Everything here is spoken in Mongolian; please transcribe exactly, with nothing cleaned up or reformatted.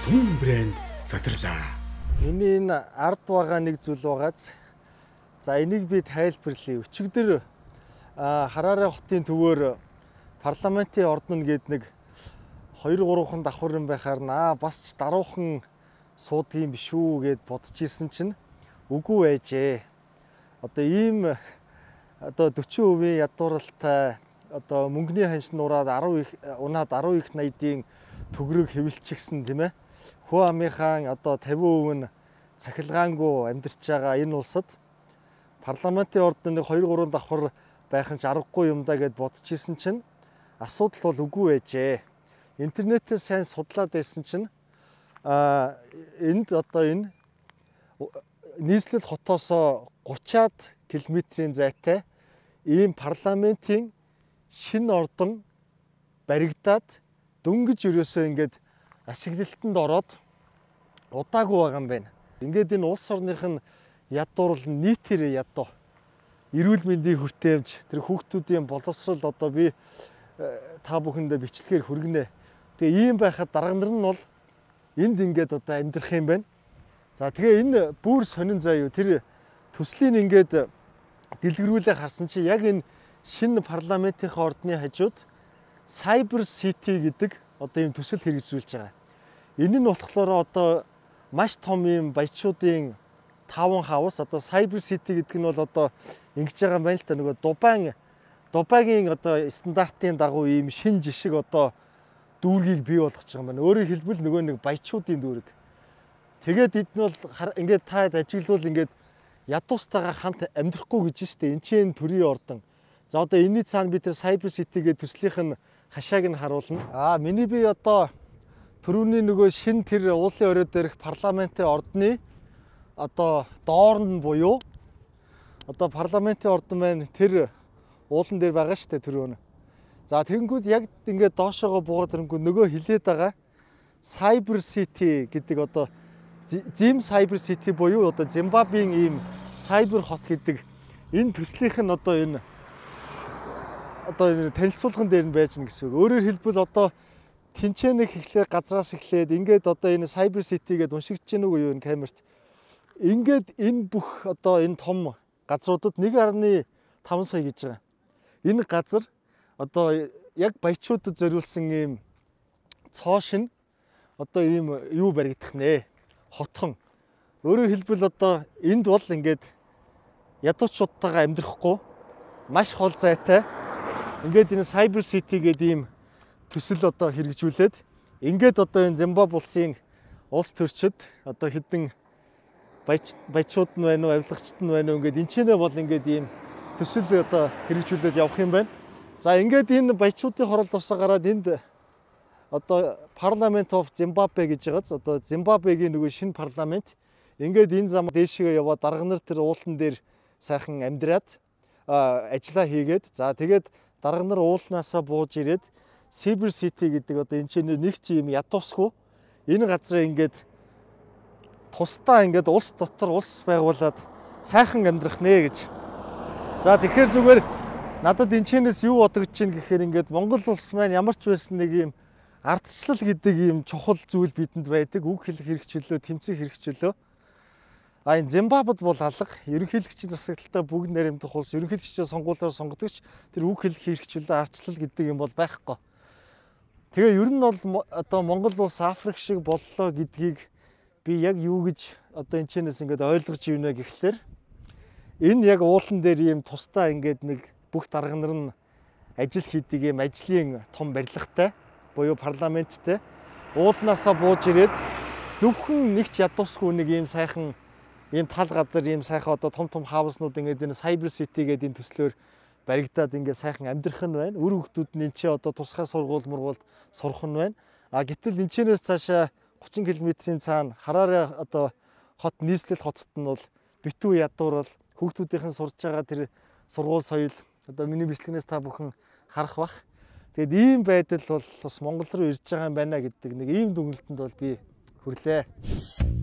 Түн брэнд задарлаа. Миний энэ ард байгаа нэг зүйл байгааз. За энийг би тайлбарлая. Өчигдөр Хараре хотын төвөөр парламентын ордон гээд нэг хоёр гурван давхар юм байхаар наа бас ч даруухан суудгийн биш үү гэд бодож ирсэн чинь үгүй байжээ. Одоо ийм одоо forty percent ядууралтай одоо мөнгөний ханш нураад ten их унаад ten их найдын төгрөг хэвлчихсэн тийм ээ. Хөө амынхаа одоо fifty percent нь цахилгаангүй амьдарч байгаа энэ улсад парламентын ордоны two three давхар байх нь аргагүй юм да гэд бодож ирсэн чинь асуудал бол үгүй байжээ. Интернетээр сайн судлаад байсан чинь а энд одоо энэ нийслэл хотоос thirty километрийн зайтай ийм парламентын шинэ ордон баригдаад дөнгөж өрөөсөө ингээд ашиглалтанд ороод удаагүй байгаа юм байна. Ингээд энэ улс орных нь ядуурл нийтээр ядуу эрүүл мэндийн хүртээмж тэр хүүхдүүдийн боловсрол одоо би та бүхэндээ бичлэгээр хүргэнэ. Тэгээ ийм байхад дарга нар нь бол энд ингээд одоо амьдрах юм байна. За тэгээ энэ бүр сонин заяа тэр төслийн ингээд дэлгэрүүлээ харсан чи яг энэ шинэ парламентынхаа ордны хажууд Cyber City гэдэг одоо ийм төсөл хэрэгжүүлж байгаа. Энэ нь болохоор одоо маш том ийм баячуудын таван хавс одоо Cyber City гэдэг нь бол одоо ингэж байгаа юм байна л та нөгөө Дубай Дубайгийн одоо стандартын дагуу ийм шинэ жишг одоо дүүргийг бий болгож байгаа юм байна. Өөрөөр хэлбэл нөгөө нэг баячуудын дүүрэг. Тэгээд эд нь бол ингээд та ажиглавал ингээд ядуустайгаа хамт амьдрахгүй гэж штэ энэ чинь төрийн ордон. За одоо энэний цаана бид тэр Cyber City гэдэг төслийнх нь хашааг нь харуулна. Аа миний би одоо түрүүний нөгөө шин тэр уулын орой дээрх парламентын ордны одоо доорн буюу одоо парламентын ордон байна тэр уулан дээр байгаа штэ түрүүн. За тэгэнгүүт яг ингээд доошоогоо буугаад ирэнгүүт нөгөө хилээд байгаа Cyber City гэдэг одоо Zim Cyber City буюу одоо Зимбабвегийн ийм сайбер хот гэдэг энэ төслийнх нь одоо энэ одоо энэ танилцуулган дээр нь байж гэнэ гэсэн үг. Өөрөөр хэлбэл одоо тэнцэнэх эхлээд газраас эхлээд ингээд одоо энэ Cyber City гэдээ уншигдэж гэнэ үгүй юу энэ камерт. Ингээд энэ бүх одоо энэ том газруудад one point five сая гэж байгаа. Энэ газар одоо яг баячуудад зориулсан ийм цоошин одоо ийм юу баригдах нэ. Хотхон. Өөрөөр хэлбэл одоо энд бол ингээд ядуучуудтайгаа амьдрахгүй маш хол зайтай ингээд энэ Cyber City гэдэг ийм төсөл одоо хэрэгжүүлээд ингээд одоо энэ Зимбабwe улсын улс төрчид одоо хэдэн баячууд нь байна уу авилгачд нь байна уу ингээд энэ ч нэ бол ингээд ийм төсөл одоо хэрэгжүүлээд явах юм байна. За ингээд энэ баячуудын хороолт усаа гараад энд одоо Parliament of Zimbabwe гэж байгааз одоо Зимбабвегийн нөгөө шинэ парламент ингээд энэ зам дээшгээ яваад дарга нар тэр уулан дээр сайхан амьдраад ажиллаа хийгээд за тэгээд дарга нар уулнаасаа бууж ирээд Cyber City гэдэг одоо энэ чинь нэг ч юм ядуусгүй энэ газраа ингээд тусдаа ингээд улс дотор улс байгуулад сайхан амьдрах нэ гэж. За тэгэхээр зүгээр надад энэ чинээс юу бодогдож чинь гэхээр ингээд Монгол улс маань ямар ч байсан нэг юм ардчлал гэдэг ийм чухал зүйл бидэнд байдаг. Үг хэлэх хэрэгчлөө, тэмцэх хэрэгчлөө. А энэ Зимбабвед бол алга. Ерөнхийлөгчийн засаглалтаа бүгд наримдах улс, ерөнхийлөгчийн сонгуулиар сонгодогч тэр үг хэлэх хэрэгчлөө, ардчлал гэдэг юм бол байхгүй. Тэгээ ер нь бол одоо Монгол улс Африк шиг боллоо гэдгийг би яг юу гэж одоо энэ чэнэс ингээд ойлгож ивнэ гэхлээр энэ яг уулан дээр ийм тусдаа ингээд нэг бүх дарга нар нь ажил хийдэг ийм ажлын том барилгатай буюу парламенттэй уулнаасаа бууж ирээд зөвхөн нэг ч ядуусгүй нэг ийм сайхан ийм тал газар ийм сайхан одоо том том хауснууд ингээд энэ Cyber City гэдэг энэ төслөөр баригдаад ингээд сайхан амьдрах нь байна. Үр хөвгтүүд нь энэ чи одоо тусгай сургууль мургуулд сурах нь байна. А гэтэл энэ чинээс цаашаа thirty километрийн цаана Хараре одоо хот нийслэл хотод нь бол битүү ядуурал хүүхдүүдийнхэн сурж байгаа тэр сургууль соёл одоо миний бичлэгнээс та бүхэн харах бах. Тэгэд ийм байдал бол бас Монгол руу ирж байгаа юм байна гэдэг нэг ийм дүгнэлтэнд бол би хүрлээ.